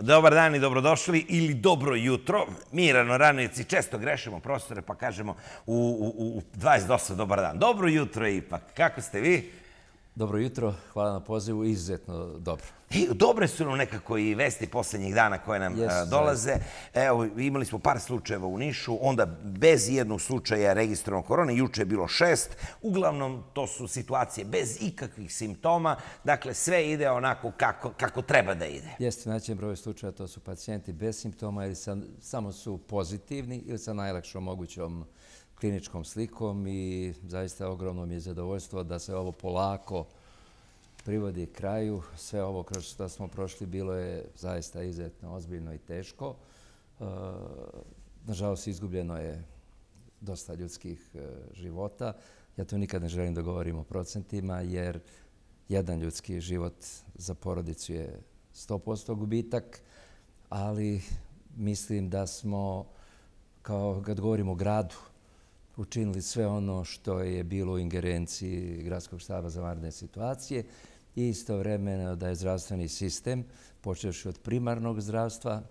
Dobar dan i dobrodošli ili dobro jutro. Mi ranoranijci često grešimo, profesore, pa kažemo u 28 dobar dan. Dobro jutro ipak. Kako ste vi? Dobro jutro, hvala na pozivu, izuzetno dobro. Dobre su nam nekako i vesti poslednjih dana koje nam dolaze. Evo, imali smo par slučajeva u Nišu, onda bez jednog slučaja registrovano korone, juče je bilo 6. Uglavnom, to su situacije bez ikakvih simptoma, dakle, sve ide onako kako treba da ide. Jeste, najveći broj slučaja, to su pacijenti bez simptoma ili samo su pozitivni ili sa najlakšom mogućom kliničkom slikom i zaista ogromno mi je zadovoljstvo da se ovo polako privodi kraju. Sve ovo kroz što smo prošli bilo je zaista izuzetno ozbiljno i teško. Nažalost, izgubljeno je dosta ljudskih života. Ja tu nikad ne želim da govorim o procentima, jer jedan ljudski život za porodicu je 100% gubitak, ali mislim da smo, kao kad govorimo o gradu, učinili sve ono što je bilo u ingerenciji Gradskog štaba za vanredne situacije i istovremeno da je zdravstveni sistem, počevši od primarnog zdravstva,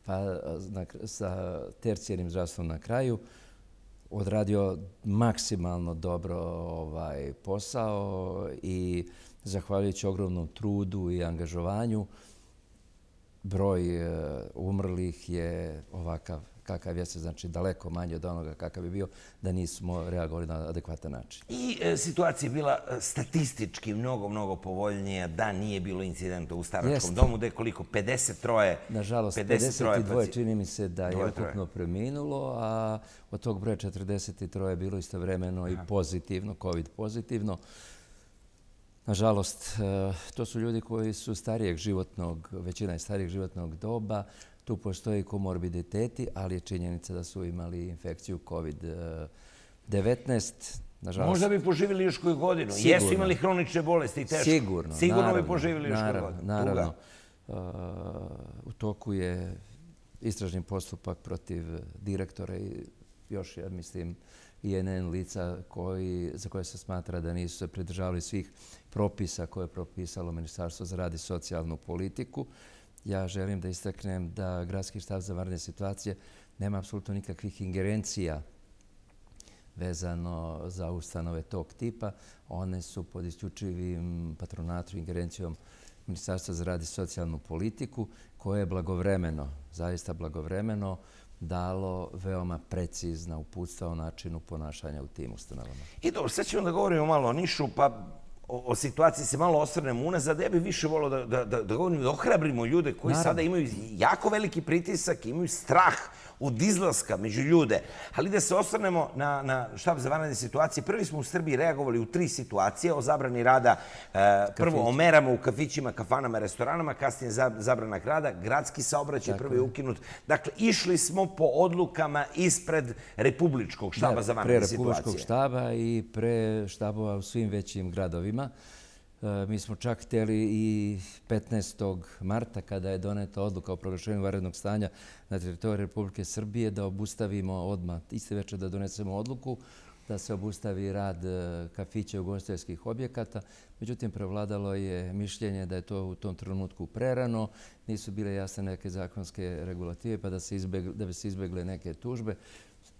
pa sa tercijarnim zdravstvom na kraju, odradio maksimalno dobro posao i zahvaljujući ogromnom trudu i angažovanju, broj umrlih je ovakav kakav jeste, znači daleko manje od onoga kakav bi bio da nismo reagovali na adekvatan način. I situacija je bila statistički mnogo povoljnija da nije bilo incidenta u staračkom domu, da je koliko? 53? Nažalost, 52 čini mi se da je ukupno preminulo, a od tog broja 43 je bilo istovremeno i pozitivno, COVID pozitivno. Nažalost, to su ljudi koji su starijeg životnog, većina je starijeg životnog doba. Tu postoji komorbiditeti, ali je činjenica da su imali infekciju COVID-19. Možda bi poživjeli još koju godinu. Jesu imali hronične bolesti i teško. Sigurno. Sigurno bi poživjeli još koju godinu. Naravno. U toku je istražni postupak protiv direktora i još, ja mislim, INN lica za koje se smatra da nisu se pridržavali svih propisa koje je propisalo Ministarstvo za rad i socijalnu politiku. Ja želim da istaknem da Gradski štab za vanredne situacije nema apsolutno nikakvih ingerencija vezano za ustanove tog tipa. One su pod isključivim patronatom i ingerencijom Ministarstva za rad i socijalnu politiku, koje je blagovremeno, zaista blagovremeno, dalo veoma precizna uputstva o načinu ponašanja u tim ustanovama. I dobro, sad ćemo da govorimo malo o Nišu, pa o situaciji se malo osvrnemo unazad. Ja bih više volio da govorimo, da ohrabrimo ljude koji sada imaju jako veliki pritisak, imaju strah od izlaska među ljude. Ali da se osvrnemo na štab za vanredne situacije. Prvi smo u Srbiji reagovali u 3 situacije o zabrani rada. Prvo o merama u kafićima, kafanama, restoranama, kasnije zabrana rada. Gradski saobraćaj prvi je ukinut. Dakle, išli smo po odlukama ispred Republičkog štaba za vanredne situacije. Pre Republičkog štaba i pre štabova u svim većim gradovima. Mi smo čak htjeli i 15. marta, kada je doneta odluka o proglašenju vanrednog stanja na teritoriji Republike Srbije, da obustavimo odmah, iste večer da donesemo odluku, da se obustavi rad kafića i ugostiteljskih objekata. Međutim, prevladalo je mišljenje da je to u tom trenutku prerano, nisu bile jasne neke zakonske regulative, pa da bi se izbegle neke tužbe.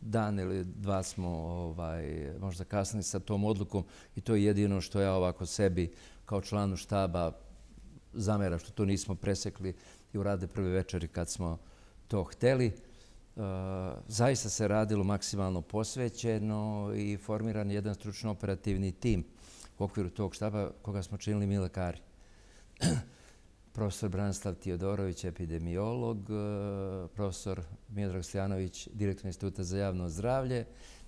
Dan ili dva smo možda kasnili sa tom odlukom i to je jedino što ja ovako sebi kao članu štaba zameram, što to nismo presekli i urade prve večeri kad smo to hteli. Zaista se radilo maksimalno posvećeno i formiran jedan stručno-operativni tim u okviru tog štaba koga smo činili mi lekari. Profesor Branislav Tijodorović, epidemiolog, profesor Miodrag Stojanović, direktor Instituta za javno zdravlje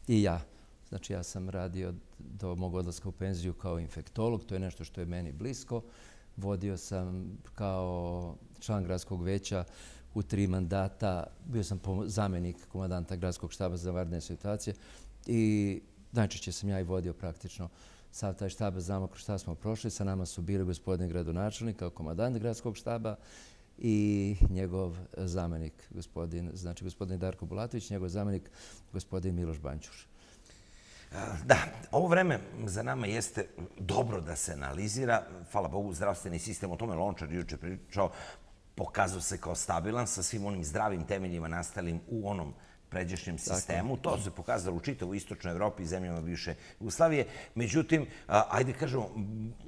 i ja. Znači, ja sam radio do mog odlaska u penziju kao infektolog, to je nešto što je meni blisko. Vodio sam kao član gradskog veća u 3 mandata, bio sam zamjenik komandanta Gradskog štaba za vanredne situacije i najčešće sam ja i vodio praktično sav taj štab. Znamo kroz šta smo prošli. Sa nama su bili gospodin gradonačelnik kao komandant Gradskog štaba i njegov zamjenik, gospodin Darko Bulatović, njegov zamjenik, gospodin Miloš Banćuš. Da, ovo vreme za nama jeste dobro da se analizira. Hvala Bogu, zdravstveni sistem, o tome Lončar juče pričao, pokazao se kao stabilan sa svim onim zdravim temeljima nastalim u onom pređašnjem sistemu. To se pokazalo u čitavoj istočnoj Evropi i zemljama bivše Jugoslavije. Međutim, ajde kažemo,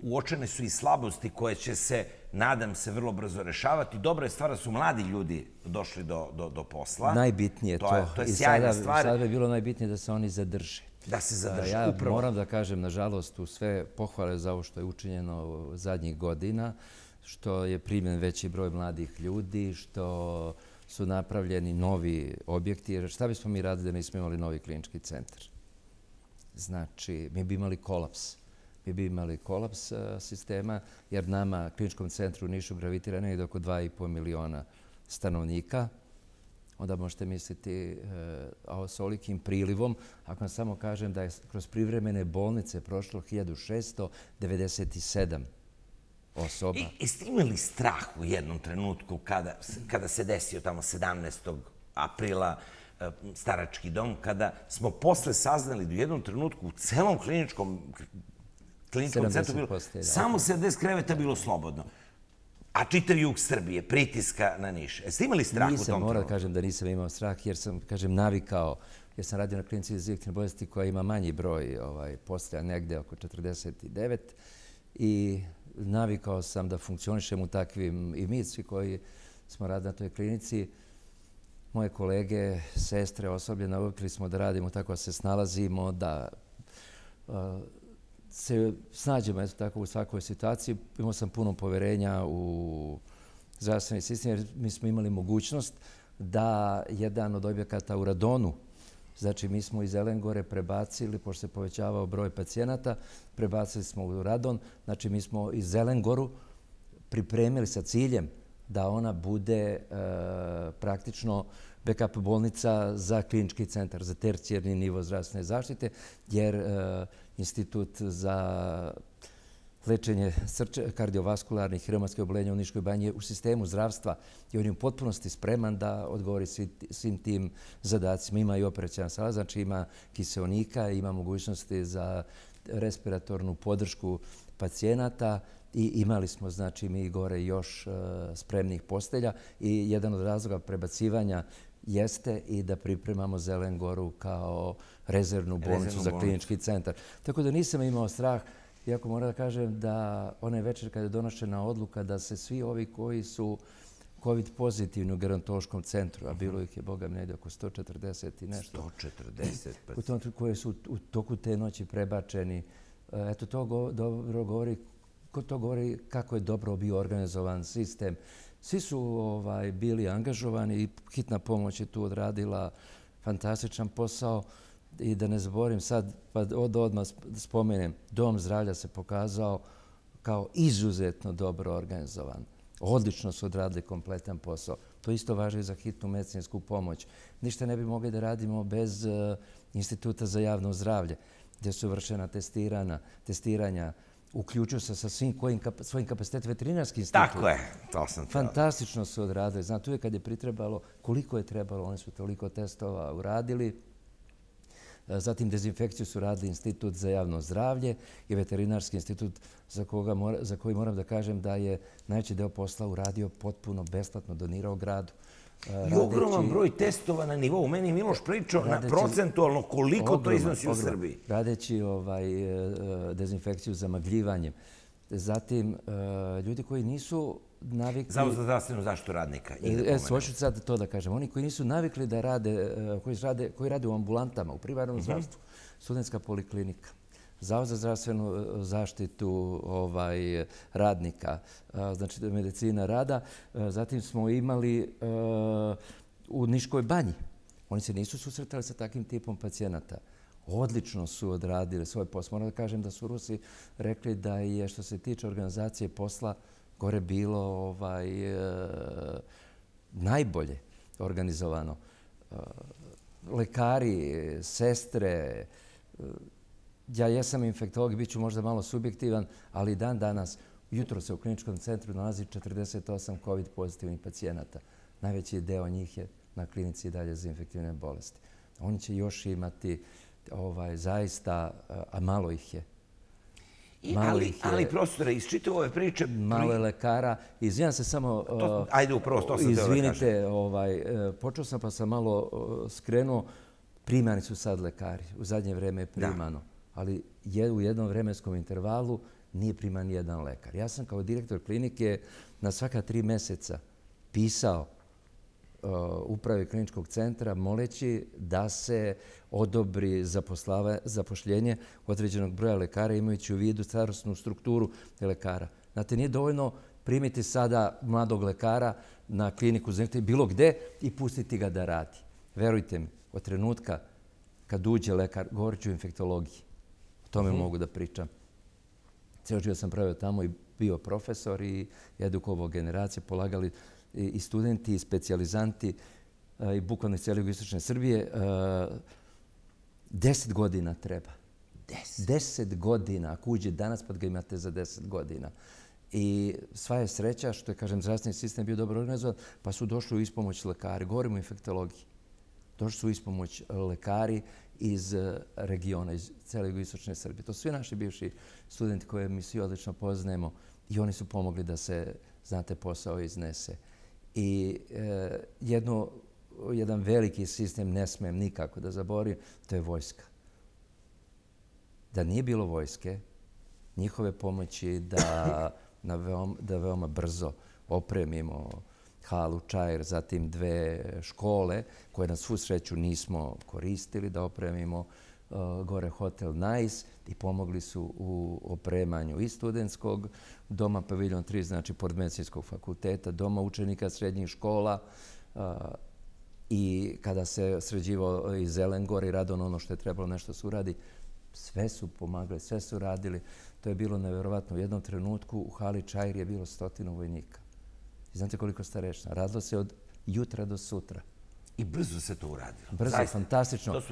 uočene su i slabosti koje će se, nadam se, vrlo brzo rešavati. Dobra je stvar da su mladi ljudi došli do posla. Najbitnije je to. To je sjajna stvar. Sada bi bilo najbitnije da se oni zadrže. Da se zadrže, ja upravo. Moram da kažem, nažalost, u sve pohvale za ovo što je učinjeno zadnjih godina, što je primljen veći broj mladih ljudi, što su napravljeni novi objekti. Jer šta bismo mi radili da nismo imali novi klinički centar? Znači, mi bi imali kolaps. Mi bi imali kolaps sistema, jer nama, kliničkom centru u Nišu, gravitira negdje oko 2,5 miliona stanovnika. Onda možete misliti s ovolikim prilivom, ako vam samo kažem da je kroz privremene bolnice prošlo 1697 osoba. Jeste imali strah u jednom trenutku kada se desio tamo 17. aprila starački dom, kada smo posle saznali da u jednom trenutku u celom kliničkom centru bilo samo 70 kreveta bilo slobodno, a čitav jug Srbije, pritiska na Niš. Jeste imali strah u tom trenutku? Moram da kažem da nisam imao strah jer sam, navikao, jer sam radio na klinici za infektivne bolesti koja ima manji broj postelja, negde oko 49, i navikao sam da funkcionišem u takvim, i mi svi koji smo radili na toj klinici, moje kolege, sestre, osoblje, navikli smo da radimo tako, da se snalazimo, da se snađemo tako u svakoj situaciji. Imao sam puno poverenja u zdravstveni sistem, jer mi smo imali mogućnost da jedan od objekata u Radonu, znači mi smo iz Zelengore prebacili, pošto se povećavao broj pacijenata, prebacili smo u Radon, znači mi smo iz Zelengoru pripremili sa ciljem da ona bude praktično backup bolnica za klinički centar, za tercijarni nivo zdravstvene zaštite, jer Institut za lečenje kardiovaskularnih i reumatskih oboljenja u Niškoj banji je u sistemu zdravstva i on je u potpunosti spreman da odgovori svim tim zadacima. Ima i operacijalna sala, znači ima kiseonika, ima mogućnosti za respiratornu podršku pacijenata i imali smo, znači, mi gore još spremnih postelja i jedan od razloga prebacivanja jeste i da pripremamo Zelengoru kao rezervnu bolnicu za klinički centar. Tako da nisam imao strah, iako moram da kažem da onaj večer kada je donošena odluka da se svi ovi koji su COVID pozitivni u gerontološkom centru, a bilo ih je, Boga mi, negdje oko 140 i nešto. 140? Koji su u toku te noći prebačeni. Eto, to dobro govori kako je dobro bio organizovan sistem. Svi su bili angažovani i hitna pomoć je tu odradila fantastičan posao. I da ne zaboravim sad, pa odmah spomenem, Dom zdravlja se pokazao kao izuzetno dobro organizovan. Odlično su odradili kompletan posao. To isto važi i za hitnu medicinsku pomoć. Ništa ne bi mogli da radimo bez Instituta za javno zdravlje, gdje su vršena testiranja, uključuju se sa svojim kapacitetom veterinarski institut. Tako je, to sam htio. Fantastično su odradili. Znate, uvijek kad je pritrebalo, koliko je trebalo, oni su toliko testova uradili. Zatim dezinfekciju su radili Institut za javno zdravlje i Veterinarski institut za koji moram da kažem da je najveći deo posla uradio potpuno besplatno, donirao gradu. I ogroman broj testova na nivou. Meni je Miloš pričao na procentualno koliko to iznosi u Srbiji. Radeći dezinfekciju zamagljivanjem. Zatim, ljudi koji nisu navikli... Zavod za zdravstvenu zaštitu radnika. Hoću sad to da kažem. Oni koji nisu navikli da rade, koji rade u ambulantama, u primarnom zdravstvu, Studentska poliklinika, Zavod za zdravstvenu zaštitu radnika, znači medicina rada. Zatim smo imali u Niškoj banji. Oni se nisu susretali sa takvim tipom pacijenata. Odlično su odradili svoj posao. Moram da kažem da su Rusi rekli da je, što se tiče organizacije posla, gore bilo najbolje organizovano. Lekari, sestre, ja jesam infektolog, bit ću možda malo subjektivan, ali dan danas, jutro se u kliničkom centru nalazi 48 COVID pozitivnih pacijenata. Najveći deo njih je na klinici dalje za infektivne bolesti. Oni će još imati zaista, a malo ih je. Ali profesore, iz čitave ove priče... Malo je lekara. Izvinjam se samo... Ajde, upravo, to sam teo da kažem. Izvinite, počeo sam pa sam malo skrenuo. Primani su sad lekari. U zadnje vreme je primano. Ali u jednom vremenskom intervalu nije priman ni jedan lekar. Ja sam kao direktor klinike na svaka 3 mjeseca pisao upravi kliničkog centra moleći da se odobri zapošljenje određenog broja lekara imajući u vidu starosnu strukturu lekara. Znate, nije dovoljno primiti sada mladog lekara na kliniku bilo gde i pustiti ga da radi. Verujte mi, od trenutka kad uđe lekar, govorit ću o infektologiji. O tome mogu da pričam. Cijelo život sam pravio tamo i bio profesor i edukovao generacije, polagali i studenti, i specijalizanti, i bukvalno iz cijele jugoistočne Srbije. 10 godina treba. 10 godina. Ako uđe danas, pa ga imate za 10 godina. I sva je sreća što je, kažem, zdravstveni sistem bio dobro organizovan, pa su došli u ispomoć lekari. Govorimo o infektologiji. Došli su u ispomoć lekari iz regiona, iz cijele jugoistočne Srbije. To su svi naši bivši studenti koje mi svi odlično poznajemo i oni su pomogli da se, znate, posao iznese. I jedan veliki sistem ne smijem nikako da zaboravim, to je vojska. Da nije bilo vojske, njihove pomoći da veoma brzo opremimo halu Čair, zatim 2 škole koje na svu sreću nismo koristili, da opremimo gore hotel Nice i pomogli su u opremanju i studentskog doma Paviljon 3, znači pored medicinskog fakulteta, doma učenika srednjih škola i kada se sređivao i Zelengor i Radon, ono što je trebalo nešto se uradi, sve su pomagali, sve su radili. To je bilo nevjerovatno. U jednom trenutku u hali Čair je bilo 100 vojnika. I znate koliko starešina? Radilo se od jutra do sutra. I brzo se to uradilo. Brzo, fantastično.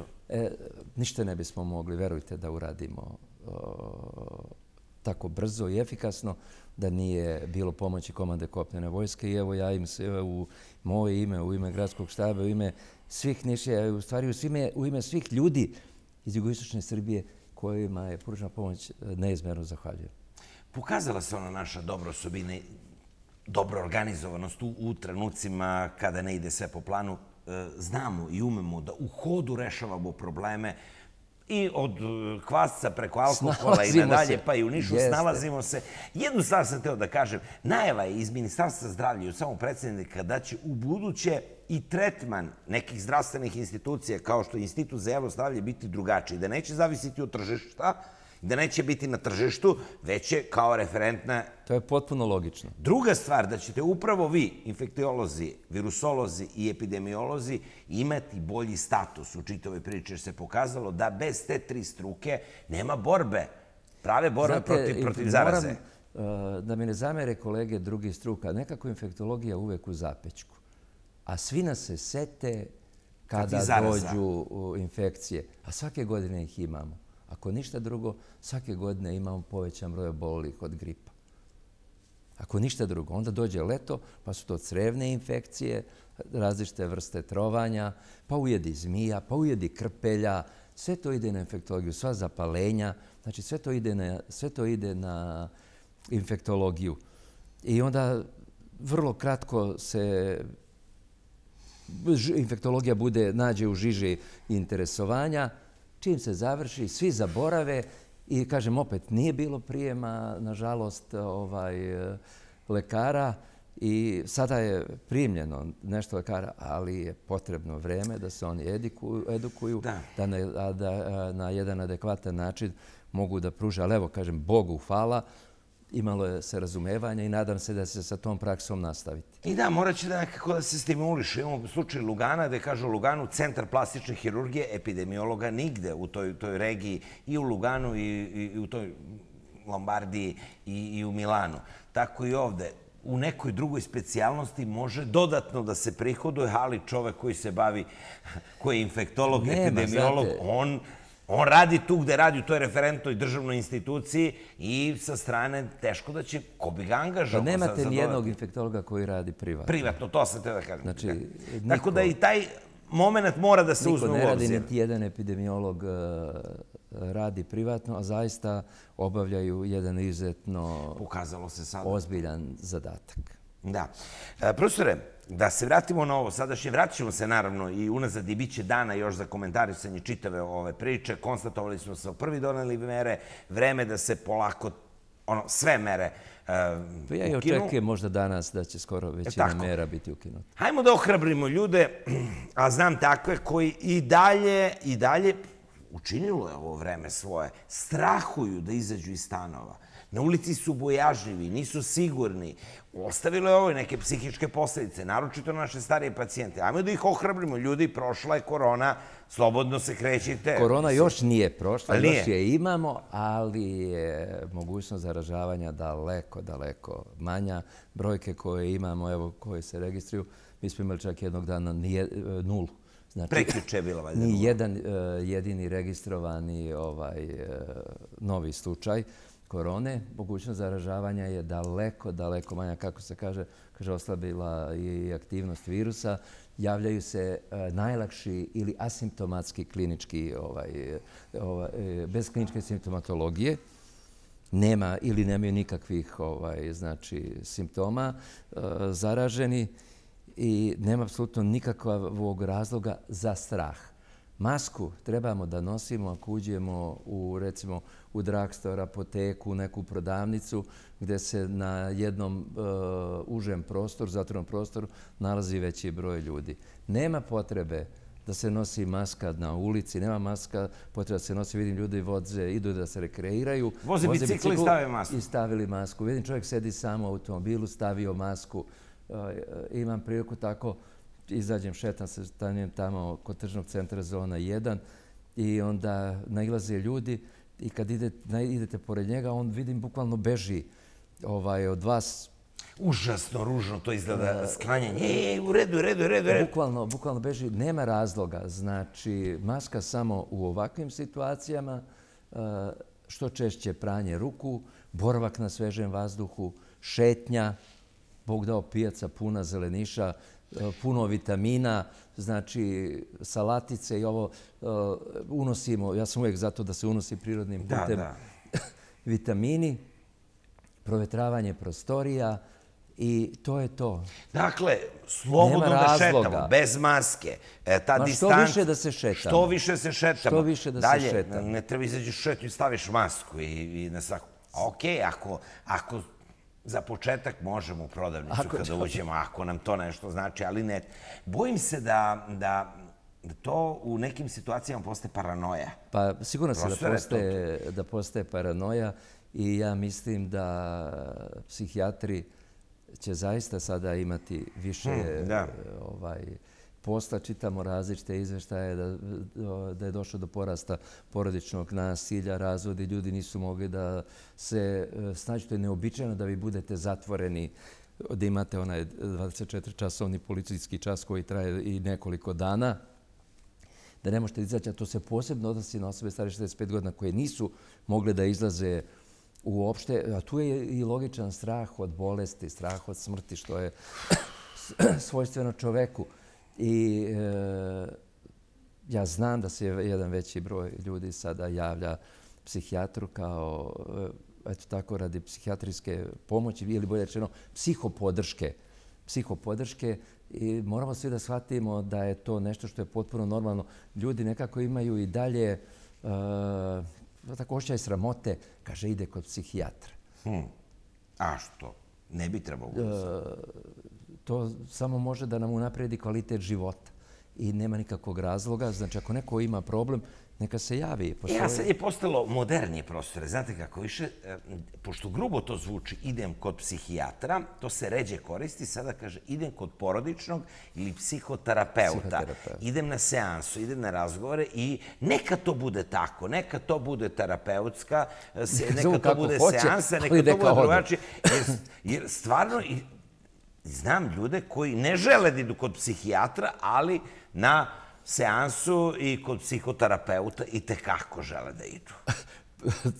Ništa ne bismo mogli, verujte, da uradimo tako brzo i efikasno da nije bilo pomoći komande kopnene vojske. I evo ja im se u moje ime, u ime gradskog štaba, u ime svih Nišija, u stvari u ime svih ljudi iz jugoistočne Srbije kojima je pružena pomoć, neizmjerno zahvaljujem. Pokazala se ona naša dobra osobina, dobra organizovanost u trenucima kada ne ide sve po planu. Znamo i umemo da u hodu rešavamo probleme i od kvasca preko alkohola i nadalje, pa i u Nišu snalazimo se. Jednu stvar sam hteo da kažem. Najava je iz Ministarstva zdravlja i od samog predsjednika da će u buduće i tretman nekih zdravstvenih institucija kao što je Institut za javno zdravlje biti drugačiji. Da neće zavisiti od tržišta, da neće biti na tržištu, već je kao referentna... To je potpuno logično. Druga stvar, da ćete upravo vi, infektiolozi, virusolozi i epidemiolozi, imati bolji status u čitavoj priči, jer se pokazalo da bez te 3 struke nema borbe, prave borbe protiv zaraze. Moram da mi ne zamere kolege drugih struka. Nekako infektologija uvek u zapećku. A svi nas se sete kada dođu infekcije. A svake godine ih imamo. Ako ništa drugo, svake godine imamo povećan broj obolelih od gripa. Ako ništa drugo, onda dođe leto, pa su to crevne infekcije, različite vrste trovanja, pa ujedi zmija, pa ujedi krpelja, sve to ide na infektologiju, sva zapalenja, znači sve to ide na infektologiju. I onda vrlo kratko se infektologija nađe u žiži interesovanja. Čim se završi, svi zaborave i, kažem, opet nije bilo prijema, nažalost, lekara i sada je primljeno nešto lekara, ali je potrebno vreme da se oni edukuju, da na jedan adekvatan način mogu da pruže. Ali evo, kažem, Bogu hvala, imalo je se razumevanja i nadam se da se sa tom praksom nastaviti. I da, morat će da nekako da se stimuliše. Imamo slučaj Lugana, gde kažu u Luganu centar plastične hirurgije, epidemiologa nigde u toj regiji, i u Luganu, i u toj Lombardiji, i u Milanu. Tako i ovde. U nekoj drugoj specijalnosti može dodatno da se prihoduje, ali čovek koji se bavi, koji je infektolog, epidemiolog, on radi tu gde radi, u toj referentnoj državnoj instituciji i sa strane teško da će, ko bi ga angažao. Pa nemate nijednog infektologa koji radi privatno. Privatno, to sam te da kažem. Tako da i taj moment mora da se uzme u obzir. Niko ne radi, niti jedan epidemiolog radi privatno, a zaista obavljaju jedan izuzetno ozbiljan zadatak. Da. Profesore, da se vratimo na ovo sadašnje, vratit ćemo se naravno i unazad i bit će dana još za komentarisanje čitave ove priče. Konstatovali smo se prvi doneli mere, vreme da se polako sve mere ukinu. Ja i očekujem možda danas da će skoro većina mera biti ukinuta. Hajmo da ohrabrimo ljude, a znam takve koji i dalje učinilo je ovo vreme svoje, strahuju da izađu iz stanova. Na ulici su bojažljivi, nisu sigurni. Ostavilo je ovo neke psihičke posljedice, naročito naše starije pacijente. Ajmo da ih ohrabrimo. Ljudi, prošla je korona, slobodno se krećite. Korona još nije prošla, još je imamo, ali je mogućnost zaražavanja daleko manja. Brojke koje imamo, evo, koje se registruju, mi smo imali čak jednog dana nulu. Prekjuče je bila valjda nula. Ni jedan jedini registrovani novi slučaj korone. Mogućnost zaražavanja je daleko manja, kako se kaže, oslabila i aktivnost virusa. Javljaju se najlakši ili asimptomatski klinički, bez kliničke simptomatologije. Nema ili nemaju nikakvih simptoma zaraženi i nema apsolutno nikakvog razloga za strah. Masku trebamo da nosimo ako uđemo recimo u drugstore, apoteku, neku prodavnicu gdje se na jednom užem prostoru, zatvorenom prostoru, nalazi veći broj ljudi. Nema potrebe da se nosi maska na ulici, nema maska potrebe da se nosi, vidim ljudi voze, idu da se rekreiraju. Voze bicikli i stave masku. I stavili masku. Vidim čovjek sedi sam u automobilu, stavio masku. Imam priliku tako, izađem, šetam se, stanem tamo kod tržnog centra Zona 1 i onda nailaze ljudi i kad idete pored njega, on vidim bukvalno beži od vas. Užasno ružno to izgleda sklanjanje. U redu. Bukvalno beži. Nema razloga. Znači, maska samo u ovakvim situacijama, što češće pranje ruku, boravak na svežem vazduhu, šetnja, Bog dao pijaca puna zeleniša, puno vitamina, znači salatice i ovo unosimo, ja sam uvijek zato da se unosi prirodnim putem vitamini, provetravanje prostorija i to je to. Dakle, slobodno da šetamo, bez maske, ta distanca. Što više da se šetamo. Što više se šetamo. Što više da se šetamo. Dalje, ne treba izađeš šetnju i staviš masku i na svaku. Okej, ako za početak možemo u prodavnicu kada uđemo, ako nam to nešto znači, ali ne. Bojim se da to u nekim situacijama postaje paranoja. Pa sigurno se da postaje paranoja i ja mislim da psihijatri će zaista sada imati više posla. Čitamo različite izveštaje da je došlo do porasta porodičnog nasilja, razvodi. Ljudi nisu mogli da se snađu. To je neobičajno da vi budete zatvoreni, da imate onaj 24-časovni policijski čas koji traje i nekoliko dana, da ne možete izaći. A to se posebno odnosi na osobe stare 65 godina koje nisu mogle da izlaze uopšte. A tu je i logičan strah od bolesti, strah od smrti, što je svojstveno čoveku. I ja znam da se jedan veći broj ljudi sada javlja psihijatru kao, eto tako, radi psihijatrijske pomoći ili bolje rečeno psihopodrške i moramo svi da shvatimo da je to nešto što je potpuno normalno. Ljudi nekako imaju i dalje tako osjećaj sramote, kaže ide kod psihijatra. A što? Ne bi trebalo. To samo može da nam unapredi kvalitet života i nema nikakvog razloga. Znači, ako neko ima problem, neka se javi. A sad je postalo modernije, profesore. Znate kako više, pošto grubo to zvuči, idem kod psihijatra, to se ređe koristi, sada kaže idem kod porodičnog ili psihoterapeuta. Idem na seansu, idem na razgovore i neka to bude tako, neka to bude terapeutska, neka to bude seansa, neka to bude drugačije. Jer stvarno, znam ljude koji ne žele da idu kod psihijatra, ali na seansu i kod psihoterapeuta i tekako žele da idu.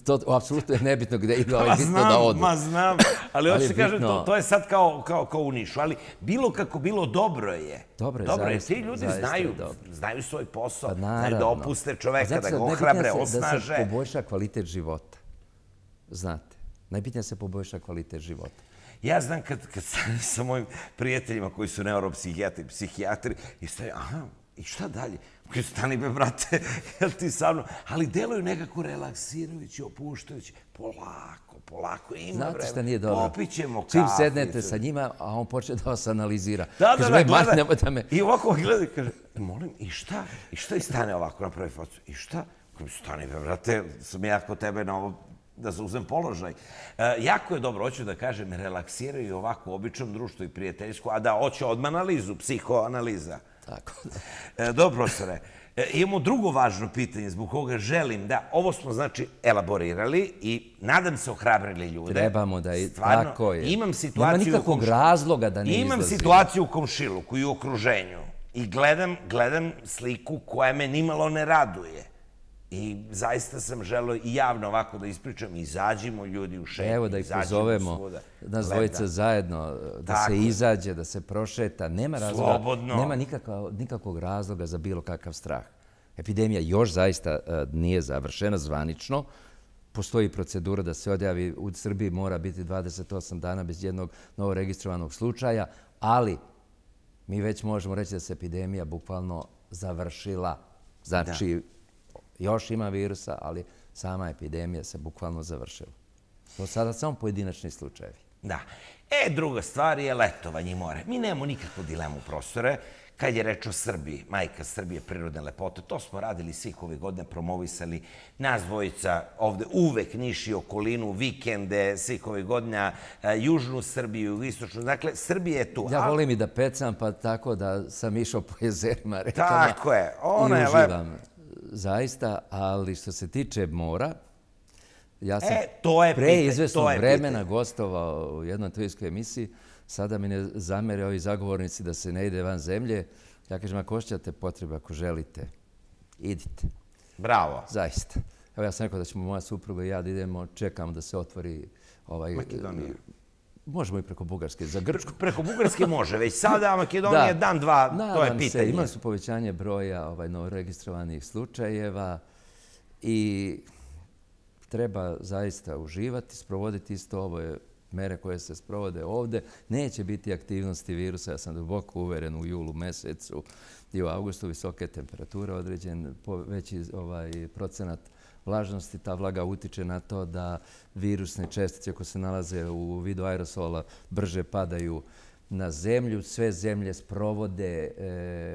To apsolutno je nebitno gde idu, ali bitno da odu. Znam, ali hoću se kažem, to je sad kao u Nišu, ali bilo kako bilo dobro je. Dobro je, ti ljudi znaju svoj posao, znaju da opuste čoveka, da ga ohrabre, osnaže. Da se poboljša kvalitet života. Znate, najbitnije se poboljša kvalitet života. Ja znam kad sam sa mojim prijateljima koji su neuropsihijatri, psihijatri, i stavim, i šta dalje? Koji stani be, brate, jel ti sa mnom? Ali deluju nekako relaksirajući, opuštajući. Polako, ima vreme. Znate šta nije dobro? Popićemo kafu. Čim sednete sa njima, a on počne da vas analizira. Da, gleda. I ovako gleda i kaže, molim, i šta? I šta i stane ovako na prvi facu? I šta? Stani be, brate, sam ja kod tebe na ovo da zauzem položaj. Jako je dobro, hoću da kažem, relaksiraju ovako u običnom društvu i prijateljsku, a da hoće odmah analizu, psihoanaliza. Tako da. Dobro, profesore. Imamo drugo važno pitanje zbog koga želim da, ovo smo znači elaborirali i nadam se ohrabrili ljude. Trebamo da i tako je. Imam situaciju... Nema nikakvog razloga da ne izlazi. Imam situaciju u komšiluku i u okruženju i gledam sliku koja me nimalo ne raduje. I zaista sam želeo i javno ovako da ispričam, izađimo ljudi u šetnju. Evo da ih pozovemo, nas dvojica zajedno, da se izađe, da se prošeta. Nema razloga, nema nikakvog razloga za bilo kakav strah. Epidemija još zaista nije završena zvanično. Postoji procedura da se odjavi, u Srbiji mora biti 28 dana bez jednog novoregistrovanog slučaja, ali mi već možemo reći da se epidemija bukvalno završila. Znači, još ima virusa, ali sama epidemija se bukvalno završila. To sada samo pojedinačni slučajevi. Da. Druga stvar je letovanje i more. Mi nemamo nikakvu dilemu, profesore. Kad je reč o Srbiji, majka Srbije, prirodne lepote, to smo radili svih ovih godina, promovisali nas dvojica ovde uvek Niš i okolinu, vikende, svih ovih godina, južnu Srbiju, istočnu. Dakle, Srbija je tu. Ja volim i da pecam, pa tako da sam išao po jezerima, rekama. Tako je. Ona je lepa. Zaista, ali što se tiče mora, ja sam pre izvesnog vremena gostovao u jednoj televizijskoj emisiji, sada mi ne zamere ovi zagovornici da se ne ide van zemlje. Ja kažem, ako osjećate potrebu, ako želite, idite. Bravo. Zaista. Evo ja sam rekao da ćemo moja supruga i ja da idemo, čekamo da se otvori Makedonija. Možemo i preko Bugarske, za Grčku. Preko Bugarske može, već sada Makedonija dan, dva, to je pitanje. Imali su povećanje broja novoregistrovanih slučajeva i treba zaista uživati, sprovoditi isto ove mere koje se sprovode ovde. Neće biti aktivnosti virusa, ja sam duboko uveren u julu mesecu i u avgustu visoke temperature, određen veći procenat vlažnosti. Ta vlaga utiče na to da virusne čestice koje se nalaze u vidu aerosola brže padaju na zemlju. Sve zemlje sprovode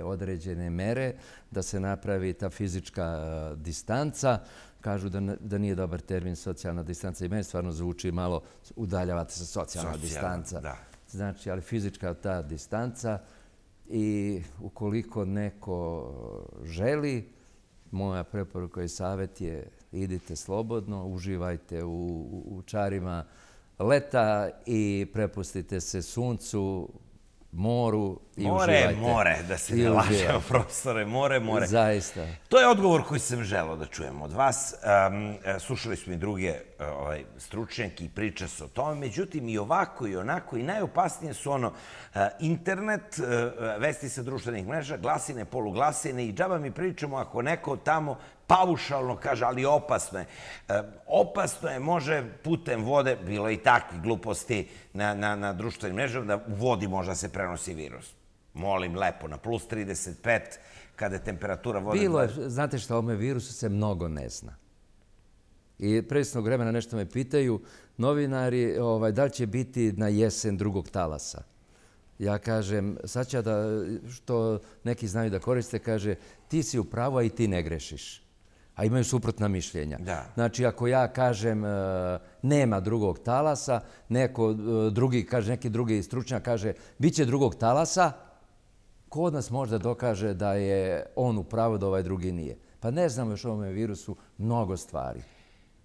određene mere da se napravi ta fizička distanca. Kažu da nije dobar termin socijalna distanca i meni stvarno zvuči malo udaljavate se socijalna distanca. Znači, ali fizička ta distanca i ukoliko neko želi, moja preporuka i savjet je idite slobodno, uživajte u čarima leta i prepustite se suncu, moru i uživajte. More, da se ne lažemo, profesore, more. Zaista. To je odgovor koji sam želeo da čujem od vas. Slušali smo i druge stručnjake i priče se o tome. Međutim, i ovako i onako i najopasnije su internet, vesti sa društvenih mreža, glasine, poluglasine i džaba mi pričamo ako neko tamo paušalno kaže, ali opasno je. Opasno je, može putem vode, bilo i takvih gluposti na društvenim mrežama, da u vodi možda se prenosi virus. Molim, lepo, na plus 35, kada je temperatura vode... Bilo je, znate što, o ovome virusu se mnogo ne zna. I presnog vremena nešto me pitaju novinari da li će biti na jesen drugog talasa. Ja kažem, sad će što neki znaju da koriste, kaže, ti si u pravu, a i ti ne grešiš. A imaju suprotna mišljenja. Znači, ako ja kažem nema drugog talasa, neki drugi stručnjak kaže bit će drugog talasa, ko od nas možda dokaže da je on u pravu, da ovaj drugi nije? Pa ne znamo još o ovome virusu mnogo stvari.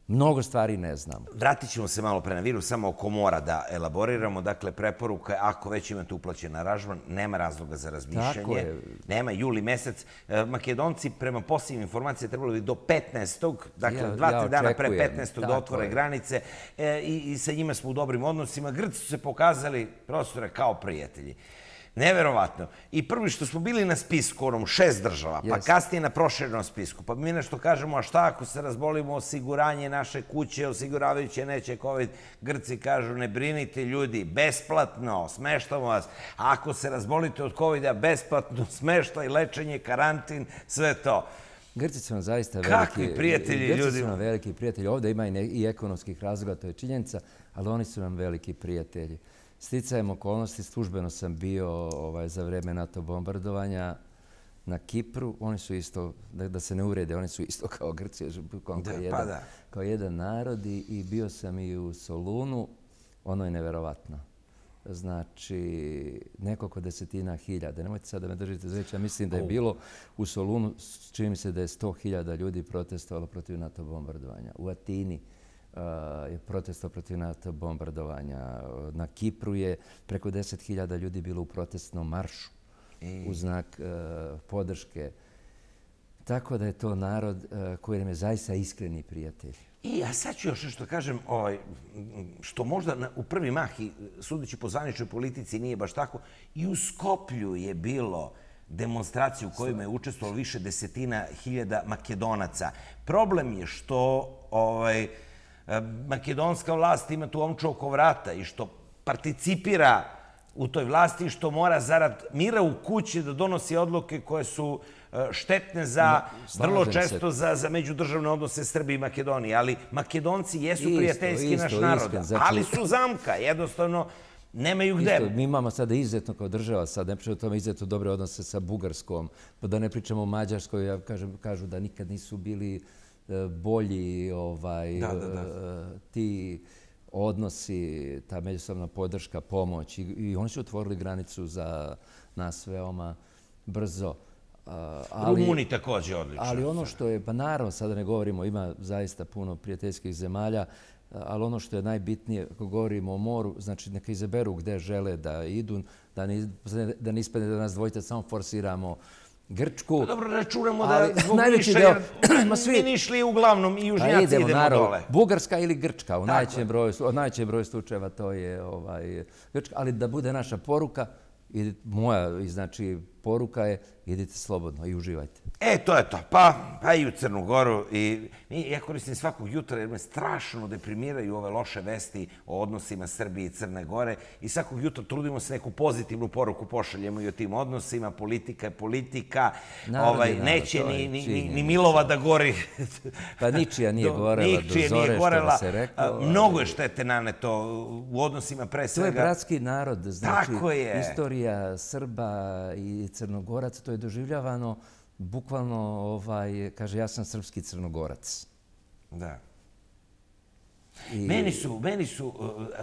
Mnogo stvari ne znamo. Vratit ćemo se malo pre na virus, samo oko mora da elaboriramo. Dakle, preporuka je, ako već imate uplaćen aranžman, nema razloga za razmišljanje. Nema, juli mesec. Makedonci, prema posljednjim informacijama, trebalo bi do 15. Dakle, 2-3 dana pre 15. da otvore granice i sa njima smo u dobrim odnosima. Grci su se pokazali, profesore, kao prijatelji. Neverovatno. I prvi što smo bili na spisku, onom 6 država, pa kasnije na proširenom spisku, pa mi nešto kažemo, a šta ako se razbolimo, osiguranje naše kuće, osiguravajuće neće COVID, Grci kažu, ne brinite ljudi, besplatno, smeštamo vas. A ako se razbolite od COVID-a, besplatno, smeštaj, lečenje, karantin, sve to. Grci su nam zaista veliki... Kakvi prijatelji ljudi? Grci su nam veliki prijatelji. Ovdje ima i ekonomskih razloga, to je činjenica, ali oni su nam veliki prijatelji. Sticajem okolnosti, službeno sam bio za vreme NATO bombardovanja na Kipru. Oni su isto, da se ne uvrede, oni su isto kao Grci, kao jedan narod i bio sam i u Solunu. Ono je neverovatno. Znači, nekoliko desetina hiljada. Nemojte sad da me držite za reč, ja mislim da je bilo u Solunu, čini mi se da je 100.000 ljudi protestovalo protiv NATO bombardovanja. U Atini je protestovao protiv NATO bombardovanja. Na Kipru je preko 10.000 ljudi bilo u protestnom maršu u znak podrške. Tako da je to narod koji nam je zaista iskreni prijatelj. A sad ću još nešto kažem, što možda u prvi mah, i sudeći po zvaničnoj politici, nije baš tako. I u Skoplju je bilo demonstracije u kojima je učestvovalo više desetina hiljada Makedonaca. Problem je što makedonska vlast ima tu omču oko vrata i što participira u toj vlasti i što mora zarad mira u kući da donosi odluke koje su štetne vrlo često za međudržavne odnose Srbije i Makedonije. Ali Makedonci jesu prijateljski naš narod, ali su zamka. Jednostavno, nemaju gde. Mi imamo sada izuzetno kao država, sad ne pričamo o tome, izuzetno dobre odnose sa Bugarskom, pa da ne pričamo o Mađarskoj, ja kažu da nikad nisu bili bolji ti odnosi, ta međusobna podrška, pomoć i oni su otvorili granicu za nas veoma brzo. Rumuni također odlično. Ali ono što je, pa naravno sada ne govorimo, ima zaista puno prijateljskih zemalja, ali ono što je najbitnije, ako govorimo o moru, znači neka izaberu gde žele da idu, da ne ispadne da nas dvojica samo forsiramo Grčku. Dobro, računamo da zbog više, jer mi nišli uglavnom i južnjaci idemo dole. Bugarska ili Grčka, u najvećem broju slučajeva to je Grčka, ali da bude naša poruka, moja, znači, poruka je idite slobodno i uživajte. To je to. Pa i u Crnu Goru. Ja koristim svakog jutra jer me strašno deprimiraju ove loše vesti o odnosima Srbije i Crne Gore i svakog jutra trudimo se neku pozitivnu poruku pošaljemo i o tim odnosima. Politika je politika. Neće ni Milova da gori. Pa ničija nije gorela do zore, što bi se reklo. Mnogo je štete naneto u odnosima pre svega. To je bratski narod. Znači, istorija Srba i Crnogoraca, to je doživljavano bukvalno, kaže, ja sam srpski Crnogorac. Da. Meni su,